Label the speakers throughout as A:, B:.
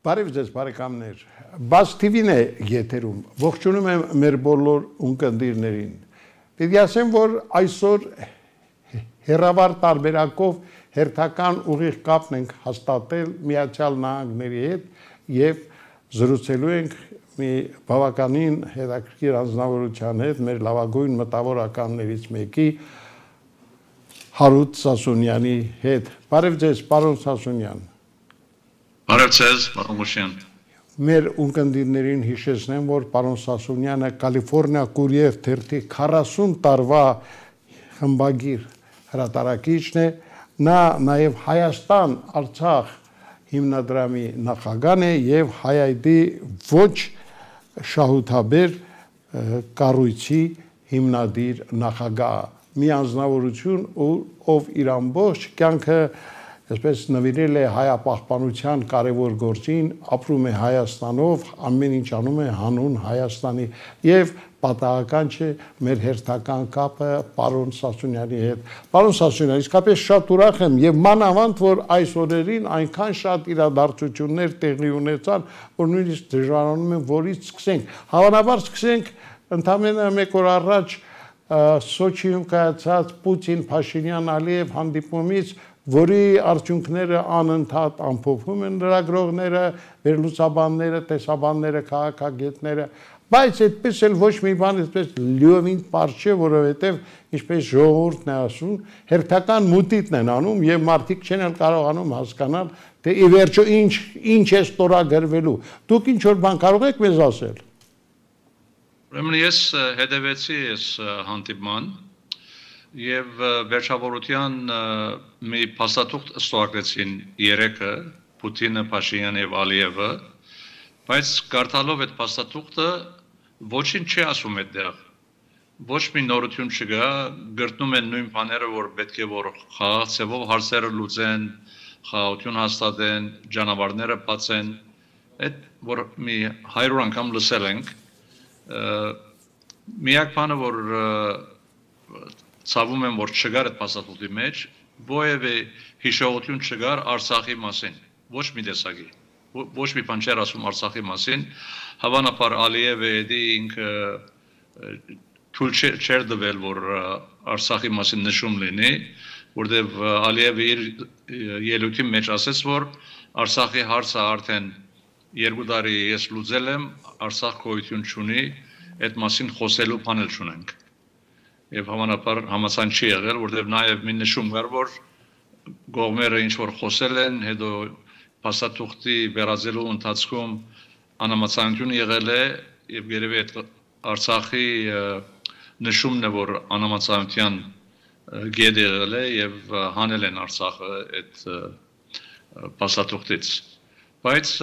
A: Բարև ձեզ բարեկամներ, Բաց TV-ն է եթերում, ողջունում եմ մեր բոլոր ունկնդիրներին, պետք է ասեմ, որ այսօր հեռավար տարբերակով հերթական ուղիղ կապն ենք հաստատել Միացյալ Նահանգների հետ և զրուցելու ենք մի բավականին հետաքրքիր անձնավորության հետ, մեր լավագույն մտավորականներից մեկի Հարութ Սասունյանի հետ, բարև ձեզ պարոն Սասունյան։
B: Բարև ձեզ, պարոն Մուշյան։
A: Մեր ունկնդիրներին հիշեցնեմ, որ պարոն Սասունյանը Կալիֆորնիա Կուրիև թերթի 40 տարվա խմբագիր հրատարակիչն է, նա նաև Հայաստան-Արցախ հիմնադրամի նախագահն է և Հայ-ID ոչ շահութաբեր կառույցի հիմնադիր նախագահ, մի անձնավորություն, ով իր ամբողջ կյանքը այսպես նվիրել է հայապահպանության կարևոր գործին, ապրում է Հայաստանով, ամեն ինչ անում է հանուն Հայաստանի և պատահական չէ մեր հերթական կապը պարոն Սասունյանի հետ։ Պարոն Սասունյան, իսկապես շատ ուրախ եմ և մանավանդ, որ այս օրերին այնքան շատ իրադարձություններ տեղի ունեցան, որ նույնիսկ դժվարանում եմ որից սկսենք։ Հավանաբար սկսենք ընդամենը մեկ օր առաջ Սոչիում կայացած Պուտին-Փաշինյան-Ալիև հանդիպումից, որի արդյունքները անընդհատ ամփոփում են լրագրողները, վերլուծաբանները, տեսաբանները, քաղաքագետները, բայց այդպես էլ ոչ մի բան այսպես լիովին պարզ չէ, որովհետև ինչպես ժողովուրդն է ասում, հերթական մուտիտն են անում և մարդիկ չեն էլ կարողանում հասկանալ, թե ի վերջո ինչ է ստորագրվելու։ Դուք ինչ որ բան կարող եք մեզ ասել։
B: Ուրեմն ես հետևեցի այս հանդիպման և վերջավորության մի փաստաթուղթ ստորագրեցին երեքը, Պուտինը, Փաշինյանը և Ալիևը, բայց կարդալով այդ փաստաթուղթը ոչինչ չի ասում այդտեղ, ոչ մի նորություն չկա, գրտնում են նույն բաները, որ պետք է որ խաղաղ ձևով հարցերը լուծեն, խաղաղություն հաստատեն, ճանապարհները բացեն, այդ որ մի 100 անգամ լսել ենք, միակ բանը, որ ցավում եմ, որ չկար այդ փաստաթուղթի մեջ, որևէ հիշողություն չկար Արցախի մասին, ոչ մի տեսակի, ոչ մի բան չէր ասում Արցախի մասին, հավանաբար Ալիևը ինքը թույլ չէր տվել, որ Արցախի մասին նշում լինի, որտեղ Ալիևը իր ելույթի մեջ ասեց, որ Արցախի հարցը արդեն 2 տարի ես լուծել եմ, Արցախ գոյություն չունի, այդ մասին խոսելու բան էլ չունենք։ Եվ հավանաբար համաձայն չի եղել, որտեղ նաև մի նշում կար, որ կողմերը ինչ որ խոսել են, հետո փաստաթուղթի վերածելու ընթացքում անհամաձայնություն եղել է եւ երևի այդ Արցախի նշումն է, որ անհամաձայնության գետ եղել է եւ հանել են Արցախը այդ փաստաթուղթից։ Բայց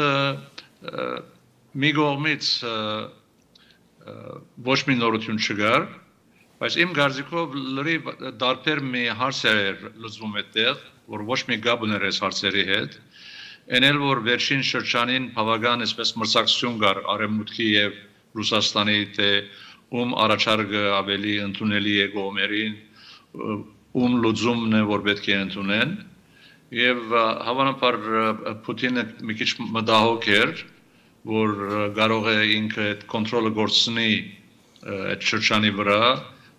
B: մի կողմից ոչ մի նորություն չկար, բայց իմ կարծիքով լրիվ դարբեր մի հարց էր լուծվում այդտեղ, որ ոչ մի կապ ուներ այս հարցերի հետ, այն էլ որ վերջին շրջանին բավական այսպես մրցակցություն կար Արևմուտքի եւ Ռուսաստանի, թե ում առաջարկը ավելի ընդունելի է կողմերին, ում լուծումն է, որ պետք է ընդունեն, եւ հավանաբար Պուտինը մի քիչ մտահոգ էր, որ կարող է ինքը այդ կոնտրոլը գործունի այդ շրջանի վրա,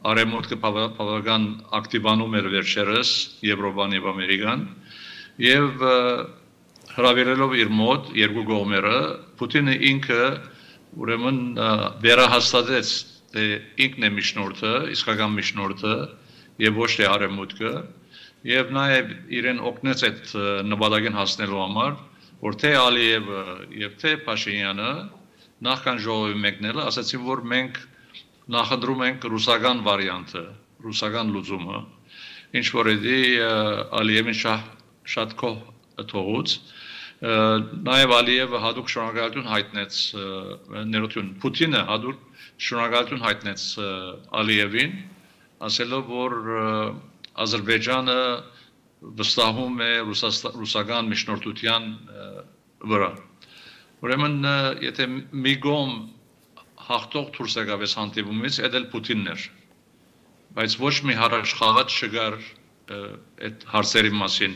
B: Արևմուտքը բավական ակտիվանում էր վերջերս Եվրոպան եւ Ամերիկան եւ հրավիրելով իր մոտ երկու կողմերը Պուտինը ինքը ուրեմն վերահաստատեց թե ինքն է միջնորդը, իսկական միջնորդը եւ ոչ թե Արևմուտքը եւ նաեւ իրեն օգնեց այդ նպատակին հասնելու համար, որ թե Ալիևը եւ թե Փաշինյանը նախքան ժողովի մեկնելը ասացին, որ մենք նախընտրում ենք ռուսական վարիանտը, ռուսական լուծումը, ինչ որ էդի Ալիևին շատ կող թողուց, նաև Ալիևը հատուկ շնորհակալություն հայտնեց, ներողություն, Պուտինը հատուկ շնորհակալություն հայտնեց Ալիևին, ասելով, որ Ադրբեջանը վստահում է ռուսական միջնորդության վրա։ Ուրեմն, եթե մի կողմ հաղթող դուրս եկավ այս հանդիպումից, այդ էլ Պուտինն էր, բայց ոչ մի առաջխաղաց չկար այդ հարցերի մասին,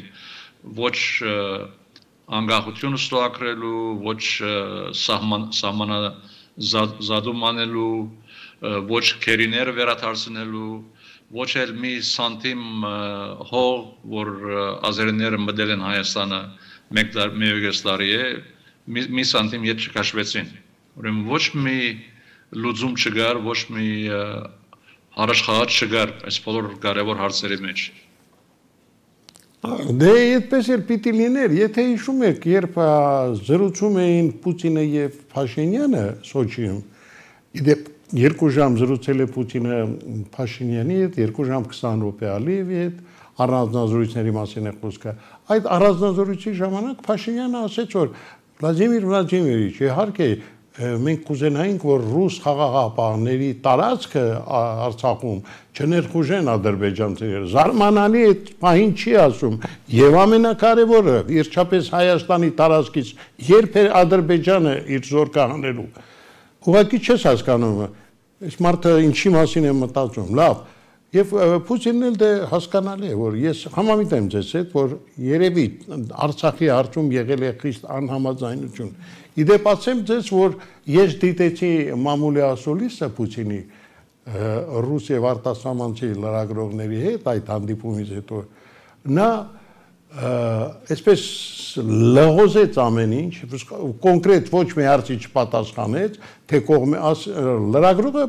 B: ոչ անկախություն ստորագրելու, ոչ սահմանազատում անելու, ոչ քերիները վերադարձնելու, ոչ էլ մի սանտիմ հող, որ ազերիները մտել են Հայաստանը մեկ տարի է, մի սանտիմ ետ չքաշվեցին։ Ուրեմն ոչ մի լուծում չկար, ոչ մի առաջխաղաց չկար այս բոլոր կարևոր հարցերի մեջ։
A: Դե այդպես էլ պիտի լիներ, եթե հիշում եք, երբ զրուցում էին Պուտինը եւ Փաշինյանը Սոչիում, իդեպ 2 ժամ զրուցել է Պուտինը Փաշինյանի հետ, 2 ժամ 20 րոպե Ալիևի հետ, առանձնազրույցների մասին է խոսքը։ Այդ առանձնազրույցի ժամանակ Փաշինյանը ասեց, որ Վլադիմիր Վլադիմիրիչ, իհարկե մենք կուզենայինք, որ ռուս խաղաղապահների տարածքը Արցախում չներխուժեն ադրբեջանցիները։ Զարմանալի այդ պահին չի ասում, եւ ամենակարևորը, վերջապես Հայաստանի տարածքից երբ է Ադրբեջանը իր զոր կհանելու։ Ուղղակի չես հասկանում, այս մարդը ինչի մասին է մտածում, լավ։ Եվ Պուտինն էլ դե հասկանալի է, որ ես համամիտ եմ ձեզ հետ, որ երևի Արցախի հարցում եղել է խիստ անհամաձայնություն։ Իդեպ ասեմ ձեզ, որ ես դիտեցի մամուլի ասուլիսը Պուտինի ռուս եւ արտասահմանցի լրագրողների հետ այդ հանդիպումից հետո նա այսպես լղոզեց ամեն ինչ, կոնկրետ ոչ մի հարցի չպատասխանեց, թե լրագրողը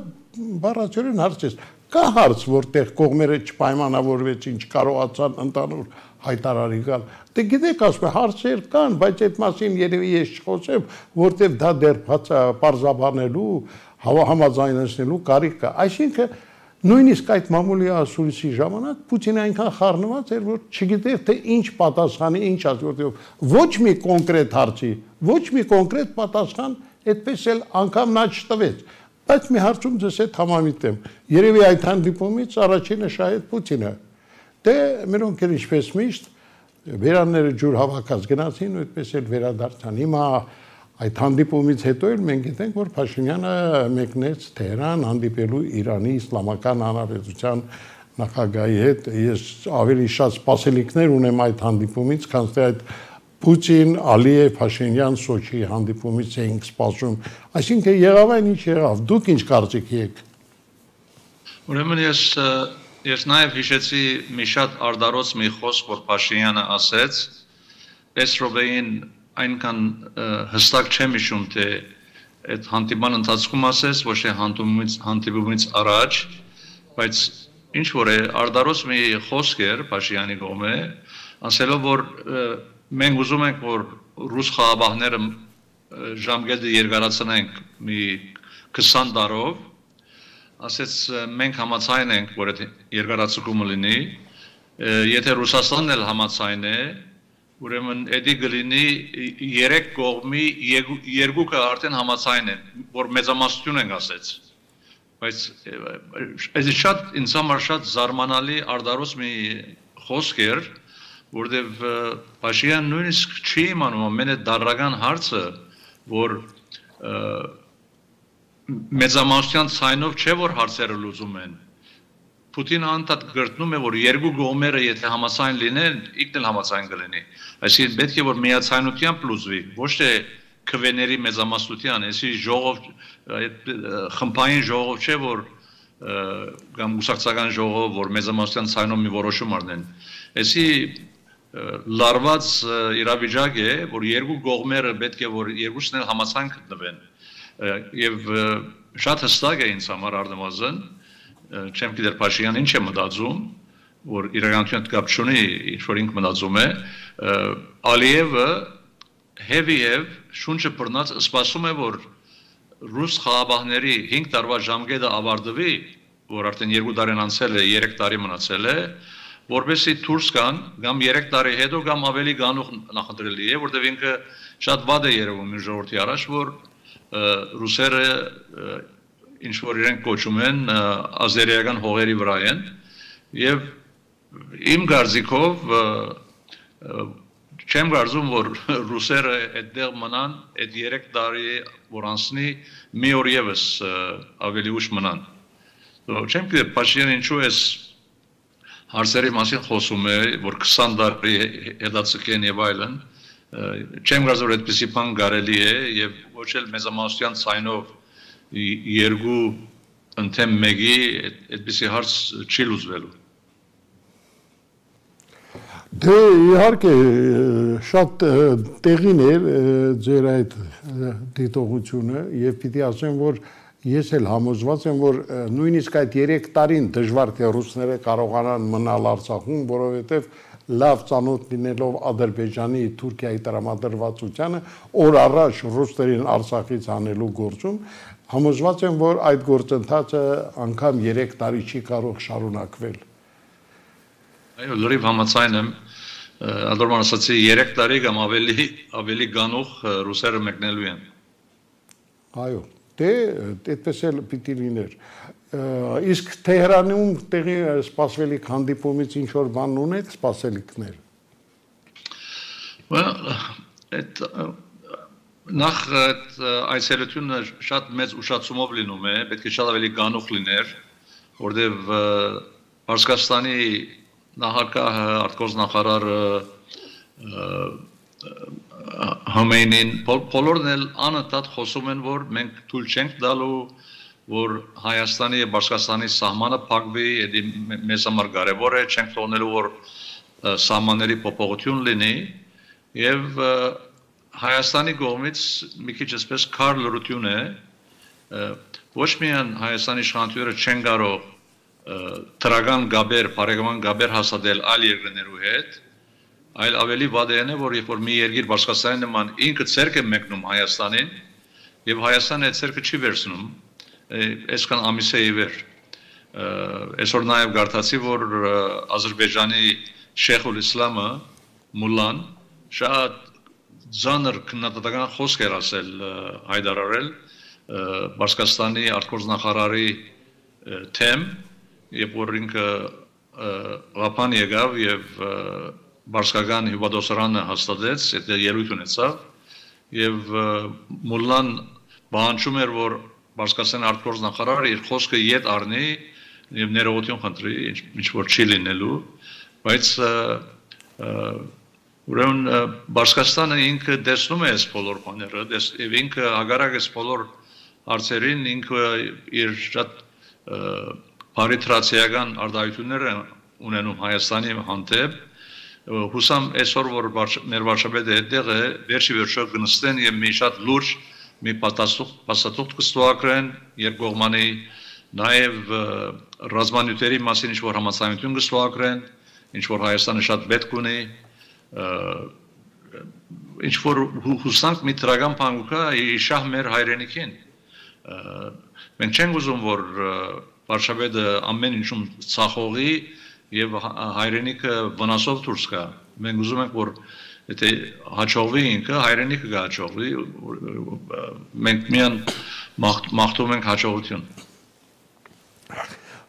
A: բառացիորեն հարցեց. Կա հարց, որտեղ կողմերը չպայմանավորվեցին, չկարողացան ընդհանուր հայտարարի գալ։ Դե գիտեք, ասում եմ, հարցեր կան, բայց այդ մասին երևի ես չխոսեմ, որտեղ դա դեռ պարզաբանելու, համաձայնեցնելու կարիք կա։ Այսինքն նույնիսկ այդ մամուլի ասուլիսի ժամանակ Պուտինը այնքան խառնված էր, որ չգիտեր թե ինչ պատասխանի, ինչ ասի, որտեղ ոչ մի կոնկրետ հարցի, ոչ մի կոնկրետ պատասխան այդպես էլ անգամ նա չտվեց։ Բայց մի հարցում ձեզ հետ համամիտ եմ։ Երևի այդ հանդիպումից առաջինը շահեց Պուտինը։ Դե մերոնք էլ ինչպես միշտ վերանները ջուր հավաքած գնացին ու այդպես էլ վերադարձան։ Հիմա այդ հանդիպումից հետո էլ մենք գիտենք, որ Փաշինյանը մեկնեց Թեհրան հանդիպելու Իրանի Իսլամական Հանրապետության նախագահի հետ։ Ես ավելի շատ սպասելիքներ ունեմ այդ հանդիպումից, քան թե այդ Պուտին, Ալիև, Փաշինյան, Սոչի հանդիպումից էինք սպասում։ Այսինքն եղավ այն ինչ եղավ։ Դուք ինչ կարծիք եք։
B: Ուրեմն ես նաև հիշեցի մի շատ արդարոց մի խոսք, որ Փաշինյանը ասեց, այս րոպեին այնքան հստակ չեմ հիշում, թե այդ հանդիպման ընթացքում ասեց, ոչ թե հանդիպումից առաջ, բայց ինչ որ է արդարոց մի խոսք էր Փաշինյանի կողմէ, ասելով, որ մենք ուզում ենք, որ ռուս խաղաղապահները ժամկետը երկարացնենք մի 20 տարով, ասեց մենք համաձայն ենք, որ այդ երկարացումը լինի, եթե Ռուսաստանն էլ համաձայն է, ուրեմն էդի կլինի 3 կողմի երկուքը արդեն համաձայն են, որ մեծամասնություն ենք ասեց։ Բայց այս շատ ինձ համար շատ զարմանալի արդարոց մի խոսք էր, որտեվ Փաշինյանը նույնիսկ չի իմանում ամեն այդ դարական հարցը, որ մեծամասնության ցայնով չէ որ հարցերը լուծում են։ Պուտինը անդադ գրտնում է, որ երկու կողմերը եթե համաձայն լինեն, ինքն էլ համաձայն կլինի։ Այսինքն պետք է որ միացայնությամբ լուծվի, ոչ թե քվեների մեծամասնության, այսի ժողով խմբային ժողով չէ որ կամ ուսակցական ժողով, որ մեծամասնության ցայնով մի որոշում առնեն։ Այսի լարված իրավիճակ է, որ երկու կողմերը պետք է որ երկուսն էլ համաձայն գտնվեն։ Եվ շատ հստակ է ինձ համար առնվազն, չեմ գիտեր Փաշինյանը ինչ է մտածում, որ իրականության կապ չունի, ինչ որ ինքը մտածում է, Ալիևը հեվիև շունչը բռնած սպասում է, որ ռուս խաղաղապահների 5 տարվա ժամկետը ավարտվի, որ արդեն 2 տարին անցել է, 3 տարի մնացել է, որպեսզի դուրս գան, կամ 3 տարի հետո կամ ավելի գանուխ նախընտրելի է, որտեղ ինքը շատ վատ է երևում իր ժողովրդի առաջ, որ ռուսերը ինչ որ իրենք կոչում են ազերիական հողերի վրա են, եւ իմ կարծիքով չեմ կարծում, որ ռուսերը այդտեղ մնան, այդ 3 տարի որ անցնի, մի օր եւս ավելի ուշ մնան։ Չեմ գիտե Փաշինյանը ինչու է հարցերի մասին խոսում է, որ 20 տարի հետաձգեն եւ այլն, չեմ գազոր այդպիսի բան կարելի է եւ ոչ էլ մեծամասնության ցայնով երկու ընդեմ մեկի այդպիսի հարց չի լուծվելու։
A: Դե իհարկե շատ տեղին էր ձեր այդ դիտողությունը եւ պիտի ասեմ, որ ես էլ համոզված եմ, որ նույնիսկ այդ 3 տարին դժվար թե ռուսները կարողանան մնալ Արցախում, որովհետեւ լավ ծանոթ լինելով Ադրբեջանի, Թուրքիայի տրամադրվածությանը, օր առաջ ռուսներին Արցախից անելու գործում, համոզված եմ, որ այդ գործընթացը անգամ 3 տարի չի կարող շարունակվել։
B: Այո, լրիվ համաձայն եմ, Ադորման ասացի 3 տարի կամ ավելի գանուխ ռուսերը մեկնելու են։
A: Այո, դե այդպես էլ պիտի լիներ։ Իսկ Թեհրանում տեղի սպասվելիք հանդիպումից ինչ որ բան ունեք սպասելիքներ։
B: Նախ այցելությունը շատ մեծ ուշացումով լինում է, պետք է շատ ավելի գանուխ լիներ, որտեղ Պարսկաստանի նախագահը, արտգործնախարարը Համեյնին բոլորն էլ անընդհատ խոսում են, որ մենք թույլ չենք տալու, որ Հայաստանի եւ Պարսկաստանի սահմանը փակվի, մեզ համար կարեւոր է, չենք թողնելու, որ սահմանների փոփոխություն լինի եւ Հայաստանի կողմից մի քիչ այսպես քար լրություն է, ոչ միայն Հայաստանի իշխանությունները չեն կարող թրական գաբեր, բարեկամական գաբեր հաստատել այլ երկրներու հետ, այլ ավելի վատն է, որ երբ որ մի երկիր Պարսկաստանի նման ինքը ցերկ է մեկնում Հայաստանին եւ Հայաստանը այդ ցերկը չի վերցնում, այսքան ամիս է ի վեր։ Այսօր նաեւ գարտացի, որ Ադրբեջանի Շեյխուլ Իսլամը Մուլլան շատ ծանր քննադատական խոսք էր ասել հայտարարել Պարսկաստանի արտգործնախարարի թեմ, երբ որ ինքը Ղափան եկավ եւ Պարսկական հյուպատոսարանը հաստատեց, այդ ելույթ ունեցավ եւ Մուլլան բանջում էր, որ Պարսկաստանի արտգործնախարարը իր խոսքը ետ առնի եւ ներողություն խնդրի, ինչ որ չի լինելու, բայց ուրեմն Պարսկաստանը ինքը տեսնում է այս բոլոր բաները, եւ ինքը հագարակ այս բոլոր հարցերին ինքը իր շատ բարիտրացիական արտահայտություններ ունենում Հայաստանի հանդեպ, հուսամ այսօր որ մեր վարչապետը այդտեղ է, վերջի վերջո կնստեն եւ մի շատ լուրջ մի փաստաթուղթ կստուակրեն երկկողմանի, նաեւ ռազմանյութերի մասին ինչ որ համաձայնություն կստուակրեն, ինչ որ Հայաստանը շատ պետք ունի, ինչ որ հուսանք մի տրագան փանգուկա իշահ մեր հայրենիքին։ Մենք չենք ուզում, որ վարչապետը ամեն ինչում ցախողի եւ հայրենիքը վնասով դուրս գա։ Մենք ուզում ենք, որ եթե հաջողվի ինքը, հայրենիքը կհաջողվի, մենք միան մաղթում ենք հաջողություն։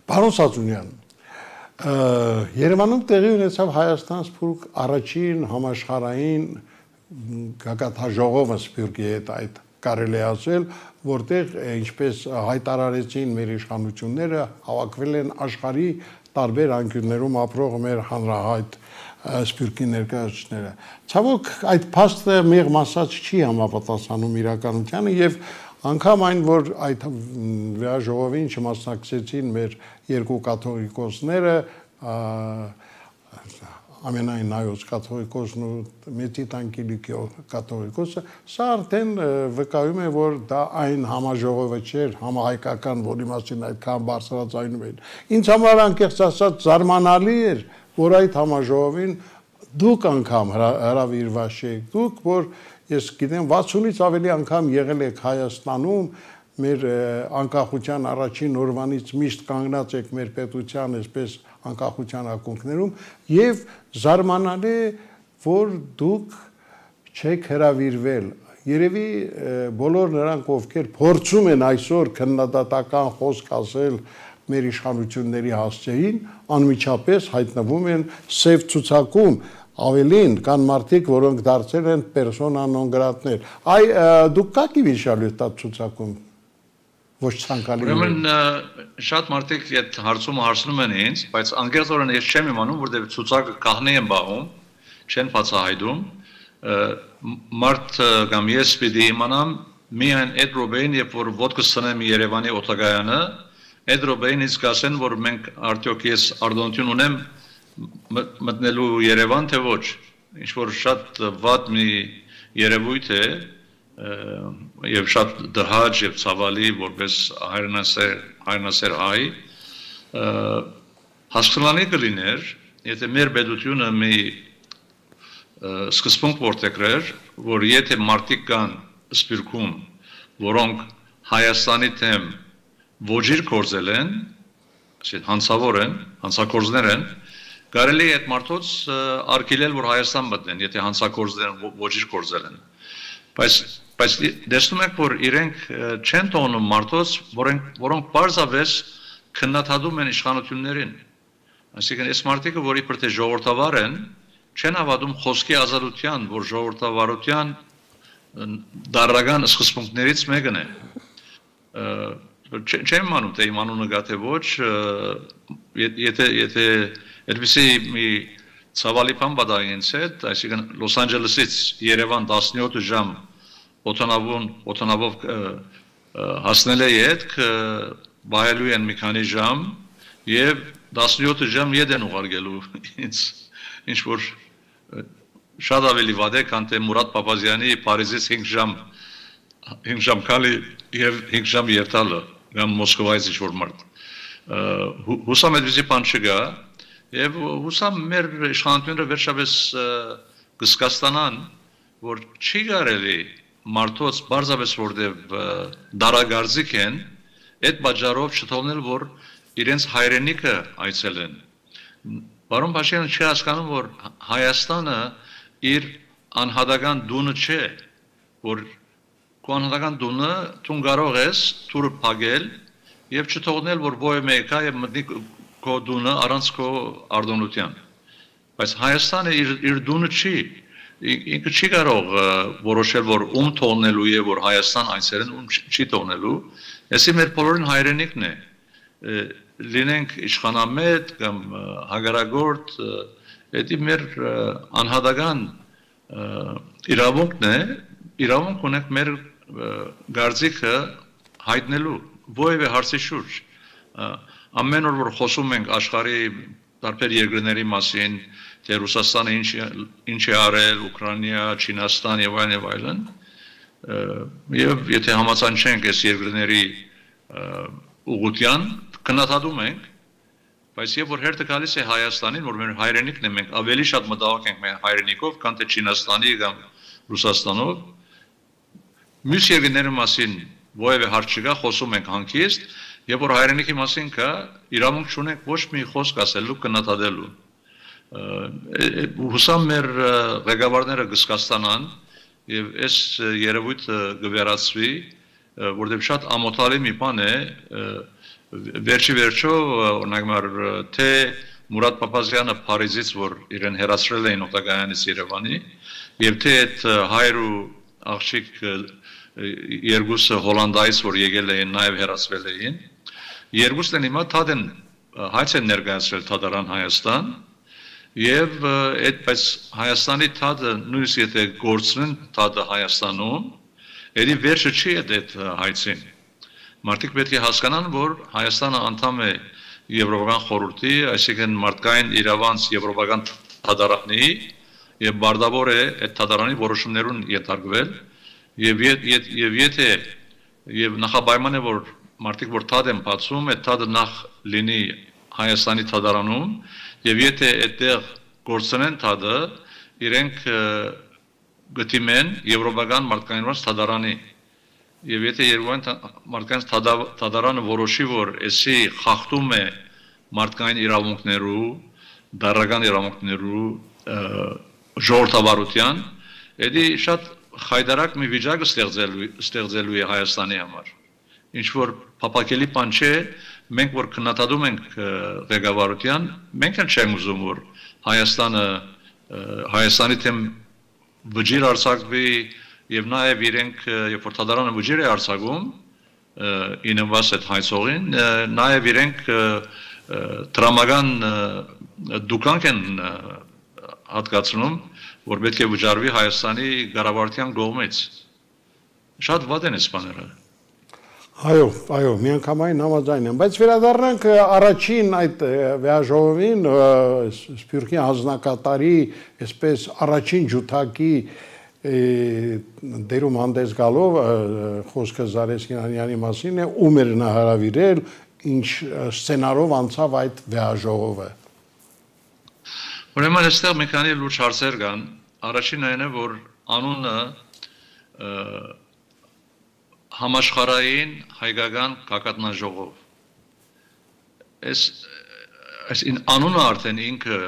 A: Պարոն Սաձունյան, Երևանում տեղի ունեցավ Հայաստան-Սփյուռք առաջին համաշխարհային գագաթաժողովը Սփյուռքի հետ, այդ կարելի է ասել, որտեղ ինչպես հայտարարեցին մեր իշխանությունները, հավաքվել են աշխարհի տարբեր անկյուններում ապրող մեր հանրահայտ Սփյուռքի ներկայացուցիչները։ Ցավոք այդ փաստը մեղմ ասած չի համապատասխանում իրականությանը եւ անգամ այն, որ այդ վեաժողովին չմասնակցեցին մեր երկու կաթողիկոսները, ամենայն նայոց կաթողիկոսն ու Մեծի Տանկիլիկյո կաթողիկոսը, սա արդեն վկայում է, որ դա այն համաժողովը չէր, համահայկական, որի մասին այդքան բարձրաձայնում էին։ Ինձ համար անկեղծ ասած զարմանալի էր, որ այդ համաժողովին դուք անգամ հրավիրված եք, դուք, որ ես գիտեմ 60-ից ավելի անգամ եղել եք Հայաստանում, մեր անկախության առաջին օրվանից միշտ կանգնած եք մեր պետության այսպես անկախության ակունքներում եւ զարմանալի է, որ դուք չեք հրավիրվել։ Երևի բոլոր նրանք, ովքեր փորձում են այսօր քննադատական խոսք ասել մեր իշխանությունների հասցեին, անմիջապես հայտնվում են սև ցուցակում, ավելին կան մարդիկ, որոնք դարձել են պերսոնա նոն գրատներ։ Այ դուք կաք իվիշալու տա ցուցակում ոչ ցանկալի։
B: Ուրեմն շատ մարդիկ այդ հարցումը հարցնում են ինձ, բայց անկեղծորեն ես չեմ իմանում, որտեղ ցուցակը կահնի են բաղում, չեն բացահայտում, մարդ կամ ես պիտի իմանամ միայն այդ րոպեին, երբ որ ոտքս ցնեմ Երևանի օտագայանը, այդ րոպեին ինձ կասեն, որ մենք արդյոք ես արտոնություն ունեմ մտնելու Երևան, թե ոչ, ինչ որ շատ վատ մի երևույթ է եւ շատ դհաճ եւ ցավալի, որպես հայրենասեր հայ, հասկանալի կլիներ, եթե մեր պետությունը մի սկզբունք որտեղեր, որ եթե մարդիկ կան սպիրկում, որոնք Հայաստանի թեմ ոչիր կորձել են, հանցավոր են, հանցակորձներ են, կարելի է այդ մարդոց արգելել, որ Հայաստան մտնեն, եթե հանցակորձներ են, ոչիր կորձել են։ Բայց դեսնում եք, որ իրենք չեն տոնում մարդոց, որոնք պարզապես քննադատում են իշխանություններին։ Այսինքն, այս մարդիկը, որ իբր թե ժողովրդավար են, չեն հավատում խոսքի ազատության, որ ժողովրդավարության դարական սկզբունքներից մեկն է։ Չեմ իմանում, թե իմ անունը գա թե ոչ, եթե այդպիսի մի ցավալի բան պատահի ինձ հետ, այսինքն Լոս Անջելեսից Երևան 17 ժամ օդանավով հասնել է ետք, վայելու են մի քանի ժամ եւ 17 ժամ ետ են ուղարկելու ինձ, ինչ որ շատ ավելի վատ է, քան թե Մուրադ Փափազյանի Փարիզից 5 ժամ քալի եւ 5 ժամ երթալը կամ Մոսկվայից ինչ որ մարդ։ Հուսամ այդպիսի բան չգա եւ հուսամ մեր իշխանությունները վերջապես կսկաստանան, որ չի կարելի մարդոց բարձրապես որտեւ դարագարձիկ են, այդ պատճառով չթողնել, որ իրենց հայրենիքը այցելեն։ Պարոն Փաշինյանը չի հասկանում, որ Հայաստանը իր անհատական դունը չէ, որ քո անհատական դունը դու կարող ես դուրը փակել եւ չթողնել, որ ոյ մեկը եւ մտնի քո դունը առանց քո արտոնության։ Բայց Հայաստանը իր դունը չի, ինքը չի կարող որոշել, որ ում թողնելու է, որ Հայաստան այցելեն, ում չի թողնելու, այսի մեր բոլորին հայրենիքն է, լինենք իշխանամետ կամ հագարագործ, դա մեր անհատական իրավունքն է, իրավունք ունենք մեր գարձիկը հայտնելու որևէ հարցի շուրջ։ Ամեն օր որ խոսում ենք աշխարհի տարբեր երկրների մասին, թե Ռուսաստանը ինչ է արել, Ուկրաինա, Չինաստան եւ այլն, եւ եթե համաձայնենք այս երկրների ուղղության, քննադատում ենք, բայց երբ որ հերթը գալիս է Հայաստանին, որ մեր հայրենիքն է, մենք ավելի շատ մտահոգ ենք մեր հայրենիքով, քան թե Չինաստանի կամ Ռուսաստանով, մյուս երկրների մասին որևէ հարց չկա, խոսում ենք հանգիստ, երբ որ հայրենիքի մասին կա, իրավունք չունենք ոչ մի խոսք ասելու, քննադատելու։ Հուսամ մեր ղեկավարները կսկաստանան եւ այս երևույթը կվերացվի, որտեղ շատ ամոթալի մի բան է, վերջի վերջո, օրինակ թե Մուրադ Փափազյանը Փարիզից, որ իրեն հեռացրել էին օտագայանից Երևանի, եւ թե այդ հայր ու աղջիկ երկուսը Հոլանդայից, որ եկել էին, նաեւ հեռացվել էին, երկուսն են հիմա թադեն հայց են ներկայացրել Թադարան Հայաստան, եւ այդպես Հայաստանի թադը նույնիսկ եթե գործնեն թադը Հայաստանում, ելի վերջը չի այդ հայցին։ Մարդիկ պետք է հասկանան, որ Հայաստանը անդամ է Եվրոպական խորհրդի, այսինքն մարդկային իրավանց եվրոպական թադարանի եւ բարդավոր է այդ թադարանի որոշումներուն ենթարկվել եւ եթե եւ նախապայման է որ մարդիկ որ թադ են բացում, այդ թադը նախ լինի Հայաստանի թադարանում եւ եթե այդտեղ գործնեն թադը, իրենք գտիմեն եվրոպական մարդկային թադարանի եւ եթե Երևան մարդկանց թադարանը որոշի, որ էսի խախտում է մարդկային իրավունքներու, դարական իրավունքներու ժողովրդավարության, դա շատ խայդարակ մի վիճակ ստեղծելու է Հայաստանի համար։ Ինչ որ փապակելի բան չէ, մենք որ քննադատում ենք ղեկավարության, մենք էլ չենք ուզում, որ Հայաստանի թեմ վճիռ արձակվի եւ նաեւ իրենք երբ որ թադարանը վճիռ է արձակում իննվաս այդ հայցողին, նաեւ իրենք դրամական դուկանք են հատկացնում, որ պետք է վճարվի Հայաստանի ղարավարության կողմից։ Շատ վատ են այս բաները։
A: Այո, միանգամայն համաձայն եմ, բայց վերադառնանք առաջին այդ վեաժողովին, Սփյուռքի հանձնակատարի, այսպես առաջին ջութակի դերում հանդես գալով խոսքը Զարես Կինանյանի մասին է, ում էր նա հրավիրել, ինչ սցենարով անցավ այդ վեաժողովը։
B: Ուրեմն այստեղ մի քանի լուրջ հարցեր կան։ Առաջինն այն է, որ անունը համաշխարհային հայկական գագաթնաժողով։ Այս անունը արդեն ինքը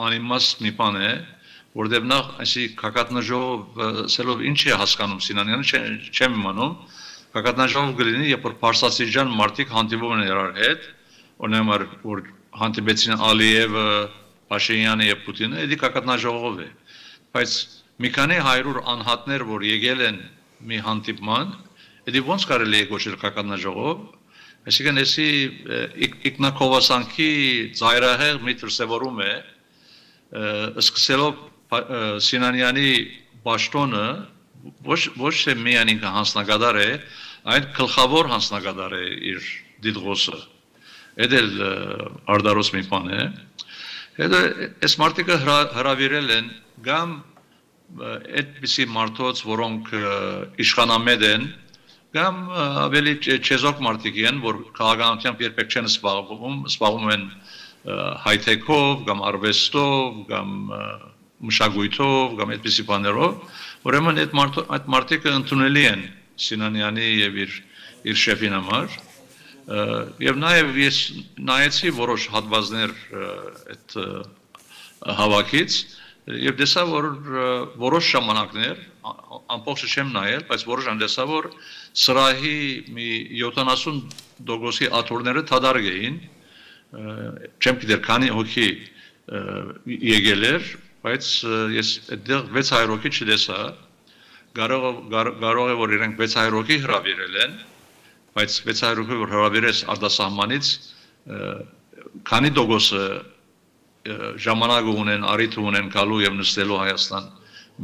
B: անիմաստ մի բան է, որտեղ նախ այսի գագաթնաժողով սելով ինչ է հասկանում Սինանյանը, չեմ իմանում։ Գագաթնաժողով կլինի, երբ որ Փարսաստիճան մարդիկ հանդիպում են իրար հետ, օրինակ որ հանդիպեցին Ալիևը, Փաշինյանը եւ Պուտինը, դա գագաթնաժողով է։ Բայց մի քանի 100 անհատներ, որ եկել են մի հանդիպման, դա ոնց կարելի է կոչել գագաթնաժողով, այսինքն էսի ինքնակովասանքի ծայրահեղ մի դրսևորում է, սկսելով Սինանյանի պաշտոնը ոչ թե միայն ինքը հանձնագետար է, այլ գլխավոր հանձնագետար է իր դիտողը։ Դա էլ արդարոց մի բան է։ Հետո այս մարդիկը հրավիրել են կամ այդպիսի մարդոց, որոնք իշխանամետ են, կամ ավելի չեզոք մարդիկ են, որ քաղաքականությամբ երբեք չեն զբաղվում են հայթեքով, կամ արվեստով, կամ մշակույթով, կամ այդպիսի բաներով, ուրեմն այդ մարդիկը ընդունելի են Սինանյանի եւ իր շեֆին համար։ Եվ նաև ես նայեցի որոշ հատվածներ այդ հավաքից եւ տեսա, որ որոշ ժամանակներ ամբողջը չեմ նայել, բայց որոշ անդեսա, որ սրահի մի 70% աթոռները թադարկ էին, չեմ գիտեր քանի հոգի եկել էր, բայց ես այդտեղ 600 հոգի չտեսա, կարող է որ իրենք 600 հոգի հրավիրել են, բայց 600 հոգի որ հրավիրես արտասահմանից, քանի տոկոսը ժամանակ ունեն, առիթ ունեն գալու եւ նստելու Հայաստան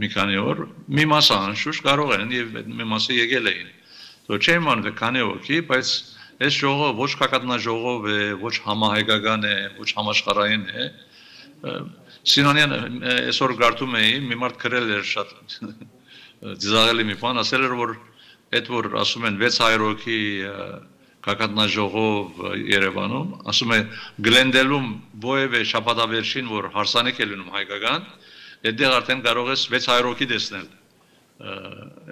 B: մի քանի օր, մի մասը անշուշտ կարող են եւ մի մասը եկել էին։ Դու չեմ անում քանի հոգի, բայց այս ժողովը ոչ գագաթնաժողով է, ոչ համահայկական է, ոչ համաշխարհային է։ Սինանյանը այսօր գարտում էի, մի մարդ գրել էր շատ դիզաղելի մի բան, ասել էր որ այդ որ ասում են 600 հոգի գագաթնաժողով Երևանում, ասում է Գլենդելում ովևէ շաբաթավերջին որ հարսանիք է լինում հայկական, այդտեղ արդեն կարող ես 600 հոգի տեսնել։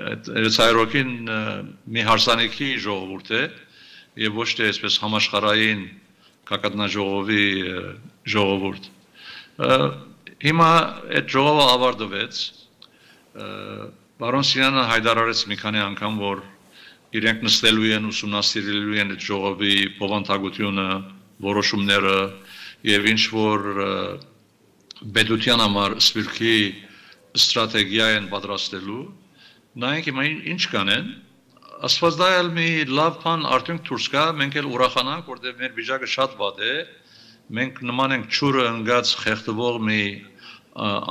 B: Այդ 600 հոգին մի հարսանիքի ժողովուրդ է եւ ոչ թե այսպես համաշխարհային գագաթնաժողովի ժողովուրդ։ Հիմա այդ ժողովը ավարտվեց։ Բարոն Սինյանը հայտարարեց մի քանի անգամ, որ իրենք նստելու են, ուսումնասիրելու են այդ ժողովի բովանդակությունը, որոշումները եւ ինչ որ պետության համար Սփյուռքի ստրատեգիա են պատրաստելու, նայենք հիմա ինչ կանեն, ասվածդայել մի լավ բան արդյունք դուրս գա, մենք էլ ուրախանանք, որտեղ մեր վիճակը շատ վատ է, մենք նման ենք ճուրը ընկած խեղդվող մի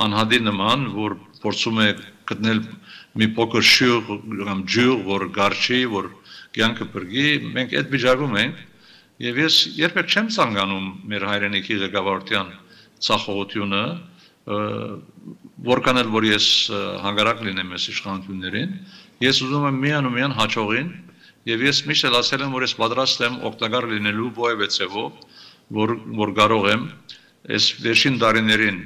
B: անհատի նման, որ փորձում է գտնել մի փոքր շյուղ կամ ջուր, որ գարչի, որ կյանքը բրգի, մենք այդ վիճակում ենք եւ ես երբեք չեմ ցանկանում մեր հայրենիքի ղեկավարության ցախողությունը, որքան էլ որ ես հանգարակ լինեմ այս իշխանություններին, ես ուզում եմ միան հաջողին եւ ես միշտ էլ ասել եմ, որ ես պատրաստ եմ օգտակար լինելու ովևէ ձևով, որ կարող եմ այս վերջին տարիներին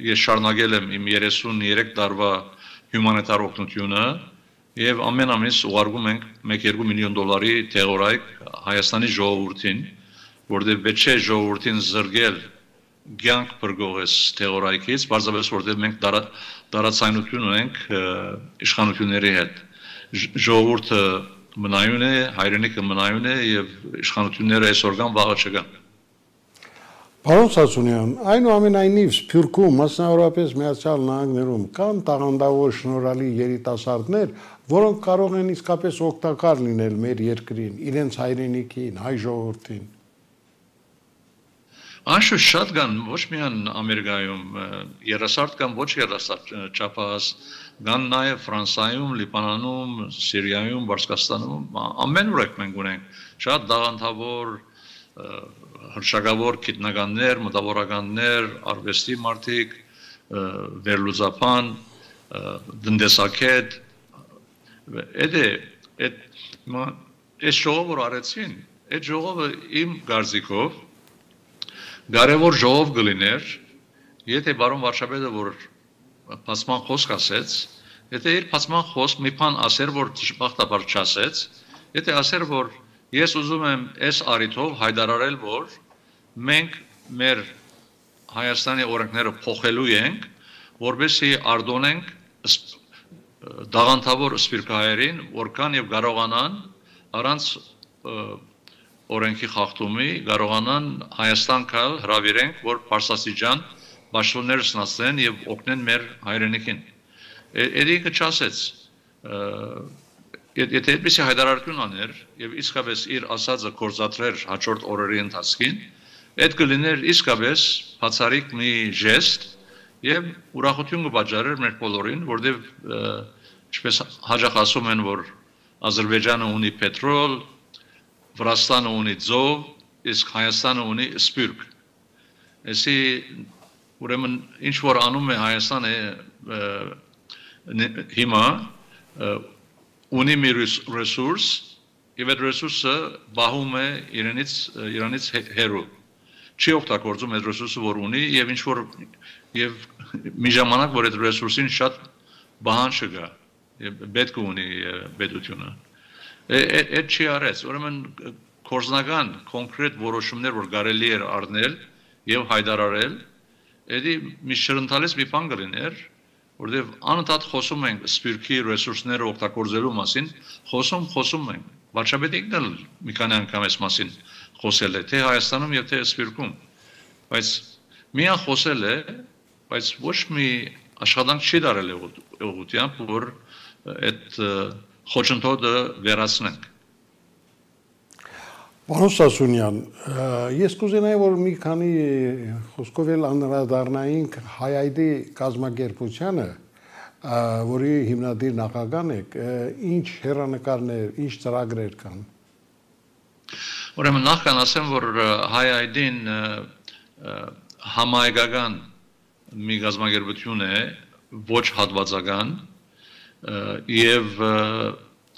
B: ես շարունակել եմ իմ 33 տարվա հյումանիտար օգնությունը եւ ամեն ամիս ուղարկում ենք 1-2 միլիոն դոլարի թեղորայք Հայաստանի ժողովրդին, որտեղ պետք է ժողովրդին զրկել կյանք բրգողես թեղորայքից, բարձրապես որտեղ մենք տարածայնություն ունենք իշխանությունների հետ։ Ժողովուրդը մնայուն է, հայրենիքը մնայուն է եւ իշխանությունները այսօր կան, վաղը չկան։
A: Պարոն Սասունյան, այնուամենայնիվ Սփյուռքում, մասնավորապես Միացյալ Նահանգներում կան տաղանդավոր շնորհալի երիտասարդներ, որոնք կարող են իսկապես օգտակար լինել մեր երկրին, իրենց հայրենիքին, հայ ժողովրդին։
B: Անշուշտ շատ կան ոչ միայն Ամերիկայում, երասարդ կամ ոչ երասարդ չափահաս, կան նաև Ֆրանսիայում, Լիբանանում, Սիրիայում, Պարսկաստանում, ամեն ուր մենք ունենք շատ դաղանթավոր հրշագավոր գիտնականներ, մտավորականներ, արվեստի մարդիկ, վերլուծաբան, տնտեսագետ, այս ժողովը արեցին, այդ ժողովը իմ կարծիքով կարևոր ժողով կլիներ, եթե բարոն վարչապետը որ բացման խոսք ասեց, եթե իր բացման խոսք մի բան ասեր, որ դժբախտաբար չասեց, եթե ասեր, որ ես ուզում եմ այս առիթով հայտարարել, որ մենք մեր Հայաստանի օրենքները փոխելու ենք, որովհետեւ արտոնենք դաղանթավոր սպիրկահայերին, որքան եւ կարողանան առանց օրենքի խախտումի կարողանան Հայաստան գալ հրավիրենք, որ Պարսաստիճան պաշտոններ ստանան եւ օգնեն մեր հայրենիքին։ Էդիկը չասեց, եթե այդպես հայտարարություն աներ եւ իսկապես իր ասածը կորզատրեր հաջորդ օրերի ընթացքին, այդ կլիներ իսկապես բացառիկ մի ժեստ եւ ուրախություն կպատճառեր մեր բոլորին, որտեղ ինչպես հաջող ասում են, որ Ադրբեջանը ունի պետրոլ, Վրաստանը ունի ձով, իսկ Հայաստանը ունի սպիրկ։ Այսի ուրեմն ինչ որ անում է Հայաստանը հիմա ունի մի ռեսուրս, եւ այդ ռեսուրսը բահում է Իրանից հեռու։ Չի օգտագործում այդ ռեսուրսը, որ ունի, եւ ինչ որ եւ մի ժամանակ, որ այդ ռեսուրսին շատ բանջը կա, եւ պետք ունի պետությունը։ Այդ չի արեց, ուրեմն կորզնական կոնկրետ որոշումներ, որ կարելի էր առնել եւ հայտարարել, էդի մի շրընթալից մի բան կլիներ, որտեղ անընդհատ խոսում ենք սպիրկի ռեսուրսները օգտագործելու մասին, խոսում ենք։ Վարչապետիկն էլ մի քանի անգամ այս մասին խոսել է, թե Հայաստանում եւ թե սպիրկում։ Բայց միան խոսել է, բայց ոչ մի աշխատանք չի դարել ուղղությամբ, որ այդ խոչընդոտը վերացնենք։
A: Պարոն Սասունյան, ես կուզենայի, որ մի քանի խոսքով էլ անդրադառնայինք Հայ-Այդի կազմակերպությանը, որի հիմնադիր նախագահն եք, ինչ հեռանկարներ, ինչ ծրագրեր կան։
B: Ուրեմն նախքան ասեմ, որ Հայ-Այդին համահայկական մի կազմակերպություն է, ոչ հատվածական, եւ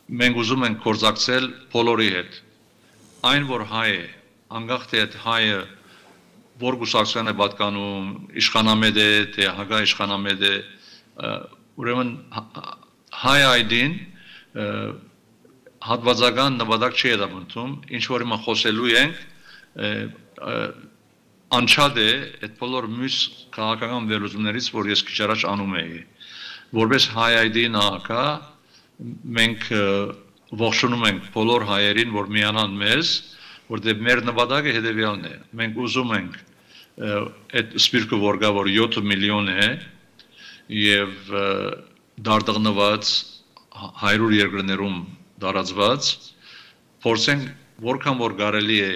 B: մենք ուզում ենք գործակցել բոլորի հետ։ Այն որ հայ է, անկախ թե այդ հայը որ գուսակցության է պատկանում, իշխանամետ է, թե հակա իշխանամետ է, ուրեմն Հայ-Այդին հատվածական նպատակ չի հետապնդում, ինչ որ հիմա խոսելու ենք, անչափ է այդ բոլոր մյուս քաղաքական վերլուծումներից, որ ես քիչ առաջ անում էի։ Որպես Հայ-Այդի նախագահ մենք ողջունում ենք բոլոր հայերին, որ միանան մեզ, որտեղ մեր նպատակը հետևյալն է։ Մենք ուզում ենք այդ սպիրկը որ գա, որ 7 միլիոն է եւ դարձնված 100 երկրներում տարածված, փորձենք որքան որ կարելի է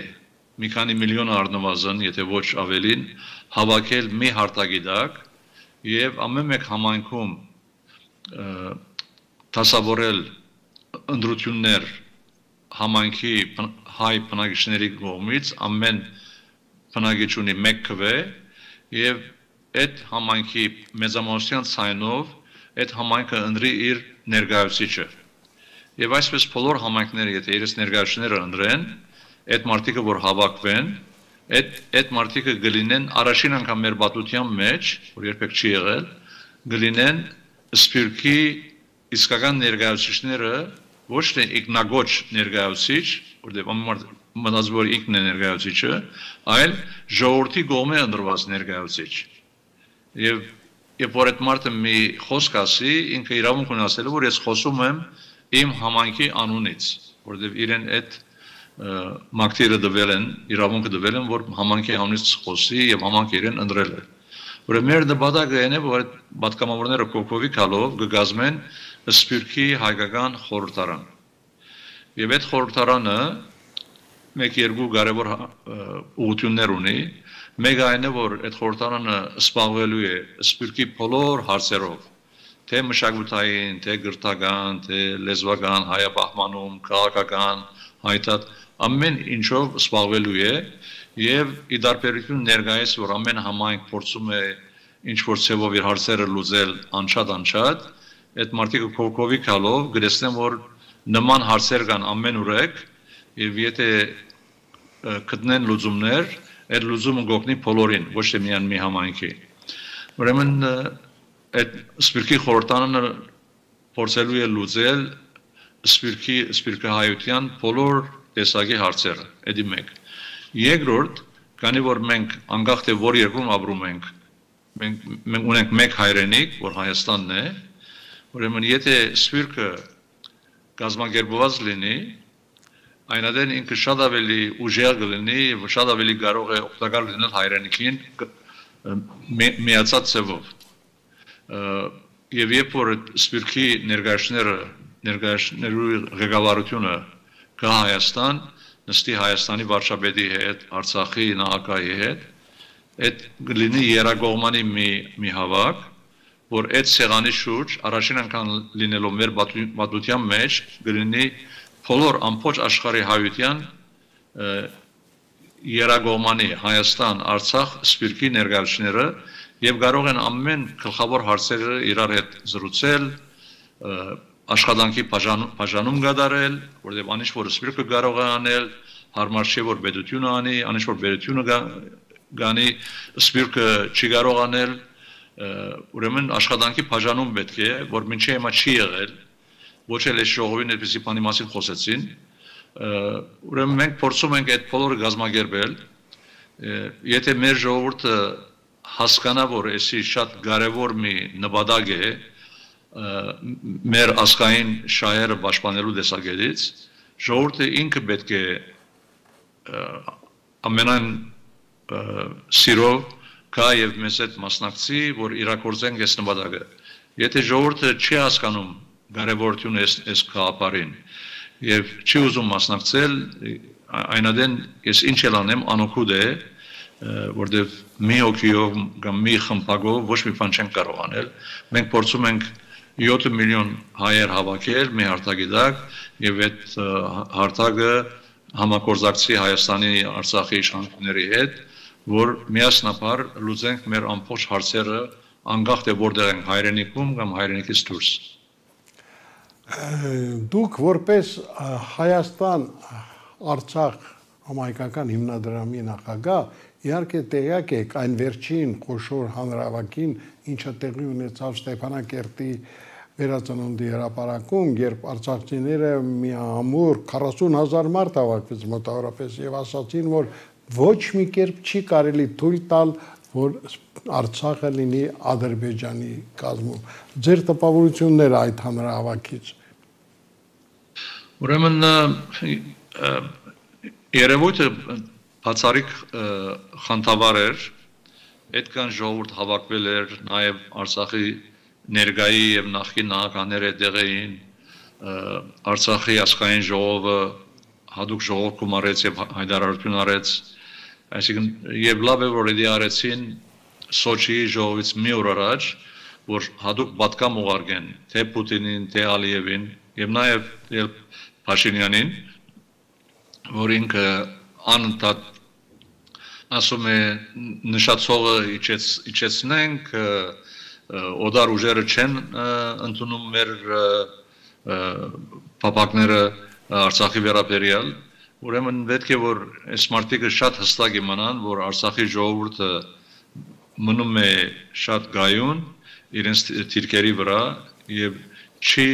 B: մի քանի միլիոն առնվազն, եթե ոչ ավելին, հավաքել մի հարտագիտակ եւ ամեն մեկ համայնքում դասավորել ընդրություններ համայնքի հայ բնակիչների կողմից ամեն բնակիչ ունի 1 քվե եւ այդ համայնքի մեծամասնության ցայնով այդ համայնքը ընտրի իր ներկայացուցիչը եւ այսպես բոլոր համայնքները եթե իրենց ներկայացուցիչները ընտրեն այդ մարդիկը որ հավաքվեն այդ մարդիկը գլինեն առաջին անգամ մեր պատմության մեջ որ երբեք չի եղել գլինեն սպիրկի իսկական ներկայացուցիչները ոչ թե ինքնագոչ ներկայացուցիչ, որտեղ մտածում որ ինքն է ներկայացուցիչը, այլ ժողովրդի կողմէ ընտրված ներկայացուցիչ։ Եվ որ այդ մարդը մի խոսք ասի, ինքը իրավունք ունի ասելու, որ ես խոսում եմ իմ համայնքի անունից, որտեղ իրեն այդ մակտիրը դվել են, իրավունքը դվել են, որ համայնքի անունից խոսի եւ համայնքը իրեն ընտրել է։ Որ մեր նպատակը այն է, որ այդ պատգամավորները կողքովի գալով կգազմեն սպիրկի հայկական խորհրդարան։ Եվ այդ խորհրդարանը մեկ երկու կարևոր ուղղություններ ունի։ Մեկ այն է, որ այդ խորհրդարանը սպառվելու է սպիրկի բոլոր հարցերով, թե մշակութային, թե գրթական, թե լեզվական, հայապահպանում, քաղաքական, հայտած ամեն ինչով սպառվելու է եւ ի դարբերություն ներկայիս, որ ամեն համայնք փորձում է ինչ որ ցևով իր հարցերը լուծել անչափ, այդ մարդիկը կողքովի գալով գրեցնեն, որ նման հարցեր կան ամեն ուրեք եւ եթե գտնեն լուծումներ, այդ լուծումը կօգնի բոլորին, ոչ թե միայն մի համայնքի։ Ուրեմն այդ սպիրկի խորհրդարանը փորձելու է լուծել սպիրկահայության բոլոր տեսակի հարցերը, դա մեկ։ Երկրորդ, քանի որ մենք անկախ թե որ երկրում ապրում ենք, մենք ունենք մեկ հայրենիք, որ Հայաստանն է, ուրեմն եթե սպիրկը կազմակերպված լինի, այնադեն ինքը շատ ավելի ուժեղ կլինի եւ շատ ավելի կարող է օգտակար լինել հայրենիքին միացած ձևով։ Եվ երբ որ սպիրկի ներկայացնելու ղեկավարությունը կա Հայաստան, նստի Հայաստանի վարչապետի հետ, Արցախի նախագահի հետ, այդ կլինի երակողմանի մի հավաք, որ այդ սեղանի շուրջ առաջին անգամ լինելով մեր պատմության մեջ կլինի բոլոր ամբողջ աշխարհի հայության երակողմանի Հայաստան, Արցախ, սպիրկի ներկայացուցիչները եւ կարող են ամեն գլխավոր հարցերը իրար հետ զրուցել, աշխատանքի բաժանում կատարել, որտեղ անիշ որ սպիրկը կարող է անել, հարմար չէ որ պետությունը անի, անիշ որ պետությունը գանի, սպիրկը չի կարող անել, ուրեմն աշխատանքի բաժանում պետք է, որ մինչև հիմա չի եղել, ոչ էլ այս ժողովին այդպիսի բանի մասին խոսեցին, ուրեմն մենք փորձում ենք այդ բոլորը կազմակերպել, եթե մեր ժողովուրդը հասկանա, որ էսի շատ կարևոր մի նպատակ է մեր ազգային շահերը պաշտպանելու տեսակետից, ժողովուրդը ինքը պետք է ամենայն սիրով կա եւ մեզ այդ մասնակցի, որ իրագործենք այս նպատակը։ Եթե ժողովուրդը չի հասկանում կարևորությունը այս գաղափարին եւ չի ուզում մասնակցել, այնադեն ես ինչ էլ անեմ, անօգուտ է, որտեղ մի հոգիով կամ մի խմբակով ոչ մի բան չենք կարող անել։ Մենք փորձում ենք 7 միլիոն հայեր հավաքել մի հարթակի տակ եւ այդ հարթակը համագործակցի Հայաստանի, Արցախի իշխանությունների հետ, որ միասնաբար լուծենք մեր ամբողջ հարցերը անկախ թե որտեղ ենք հայրենիքում կամ հայրենիքից դուրս։
A: Դուք որպես Հայաստան, Արցախ համայնքական հիմնադրամի նախագահ իհարկե տեղյակ եք այն վերջին խոշոր հանրահավաքին, ինչը տեղի ունեցավ Ստեփանակերտի վերածնունդի հրապարակում, երբ արցախցիները միամուր 40,000 մարդ հավաքվեց մոտավորապես եւ ասացին, որ ոչ մի կերպ չի կարելի թույլ տալ, որ Արցախը լինի Ադրբեջանի կազմում։ Ձեր տպավորությունները այդ հանրահավաքից։
B: Ուրեմն երևույթը բացառիկ խանդավառ էր, այդքան ժողովուրդ հավաքվել էր, նաև Արցախի ներկայի եւ նախկին նախագահները դեղ էին, Արցախի ազգային ժողովը հadoop ժողով կոմարեց եւ հայտարարություն արեց, այսինքն եւ լավ է որ դա արեցին Սոչիի ժողովից մի օր առաջ, որ հadoop պատկամ ուղարկեն թե Պուտինին, թե Ալիևին եւ նաեւ Փաշինյանին, որ ինքը անընդհատ ասում է նշածողը իջեցնենք, օդար ուժերը չեն ընդունում մեր փապակները Արցախի վերաբերյալ, ուրեմն պետք է որ այս մարդիկը շատ հստակ իմանան, որ Արցախի ժողովուրդը մնում է շատ գայուն իրենց թիրքերի վրա եւ չի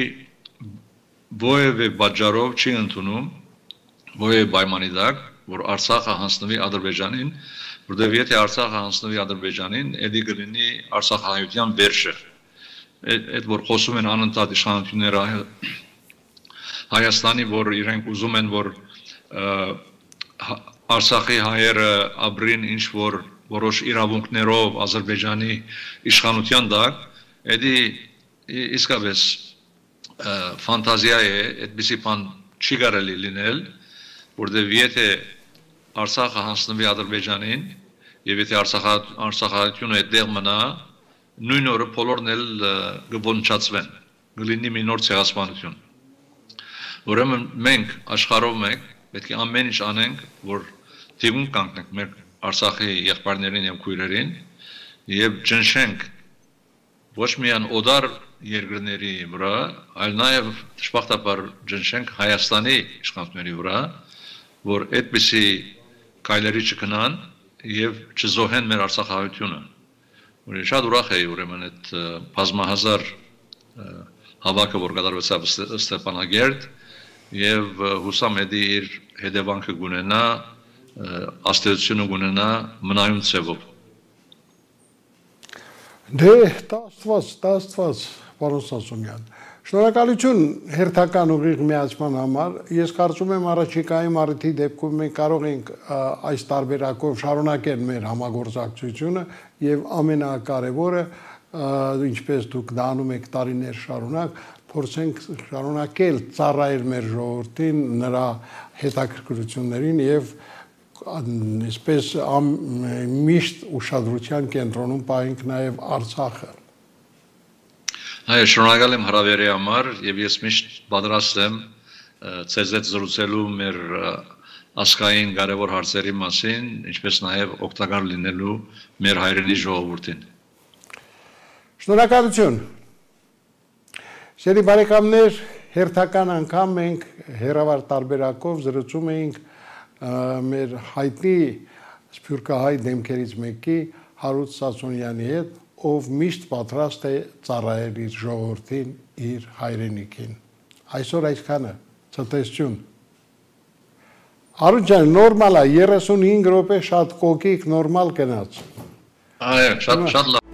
B: որևէ պատճառով չի ընդունում որևէ պայմանի տակ, որ Արցախը հանձնվի Ադրբեջանին, որտեղ եթե Արցախը հանձնվի Ադրբեջանին, դա կլինի Արցախահայության վերջը։ Այդ որ խոսում են անընդհատ իշխանությունները Հայաստանի, որ իրենք ուզում են, որ Արցախի հայերը ապրին ինչ որ որոշ իրավունքներով Ադրբեջանի իշխանության տակ, դա իսկապես ֆանտազիա է, այդպիսի բան չի կարելի լինել, որտեղ եթե Արցախը հանձնվի Ադրբեջանին, եւ եթե Արցախահայությունը այդտեղ մնա, նույն օրը բոլորն էլ կոնչացվեն, կլինի մի նոր ցեղասպանություն։ Ուրեմն մենք աշխարհով մենք պետք է ամեն ինչ անենք, որ թիվում կանգնենք մեր Արցախի եղբայրներին եւ քույրերին եւ ճնշենք ոչ միայն օդար երկրների վրա, այլ նաեւ դժբախտաբար ճնշենք Հայաստանի իշխանությունների վրա, որ այդպիսի կայլերի չգնան եւ չզոհեն մեր Արցախահայությունը։ Որ շատ ուրախ էի ուրեմն այդ բազմահազար հավաքը, որ կատարվեցավ Ստեփանագերտ եւ հուսամ էդի իր հետևանքը գունենա, աստեցությունը գունենա մնայուն ցևով։
A: Դե տաստված, պարոն Սասունյան։ Շնորհակալություն հերթական ուղիղ միացման համար։ Ես կարծում եմ առաջիկայի մարտի դեպքում մենք կարող ենք այս տարբերակով շարունակել մեր համագործակցությունը եւ ամենակարևորը, ինչպես դուք դա անում եք տարիներ շարունակ, փորձենք շարունակել ծառայել մեր ժողովրդին, նրա հետաքրքրություններին եւ այսպես միշտ ուշադրության կենտրոնում պահենք նաեւ Արցախը։
B: Այո, շնորհակալ եմ հրավերի համար եւ ես միշտ պատրաստ եմ ցեզ հետ զրուցելու մեր ասկային կարևոր հարցերի մասին, ինչպես նաեւ օգտակար լինելու մեր հայրենի ժողովրդին։
A: Շնորհակալություն։ Սիրելի բարեկամներ, հերթական անգամ մենք հերավար տարբերակով զրուցում էինք մեր հայտնի սփյուռքահայ դեմքերից մեկի Հարութ Սասունյանի հետ, ով միշտ պատրաստ է ծառայել իր ժողովրդին, իր հայրենիքին։ Այսօր այսքանը, ցտեսություն։ Հարութ ջան, նորմալ է, 35 րոպե շատ կոկիկ նորմալ գնաց։
B: Այո, շատ լավ։